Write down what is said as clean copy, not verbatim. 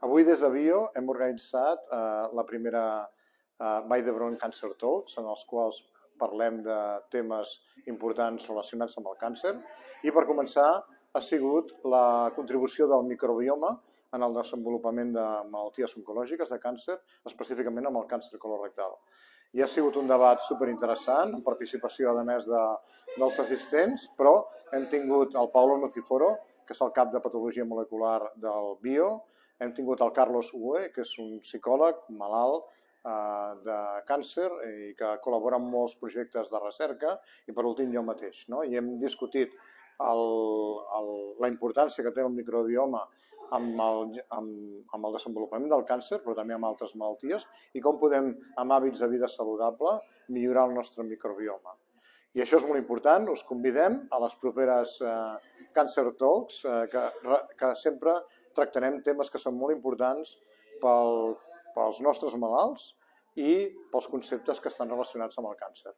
Avui des de Bio hem organitzat la primera Vall d'Hebron Cancer Talks, en els quals parlem de temes importants relacionats amb el càncer. I per començar ha sigut la contribució del microbioma en el desenvolupament de malalties oncològiques de càncer, específicament amb el càncer colorectal. I ha sigut un debat superinteressant, amb participació, a més, dels assistents, però hem tingut el Paolo Nociforo, que és el cap de patologia molecular del Bio, hem tingut el Carlos Ue, que és un psicòleg malalt de càncer i que col·labora en molts projectes de recerca, i per últim jo mateix. I hem discutit la importància que té el microbioma amb el desenvolupament del càncer, però també amb altres malalties, i com podem, amb hàbits de vida saludable, millorar el nostre microbioma. I això és molt important, us convidem a les properes Cancer Talks, que sempre tractarem temes que són molt importants pels nostres malalts i pels conceptes que estan relacionats amb el càncer.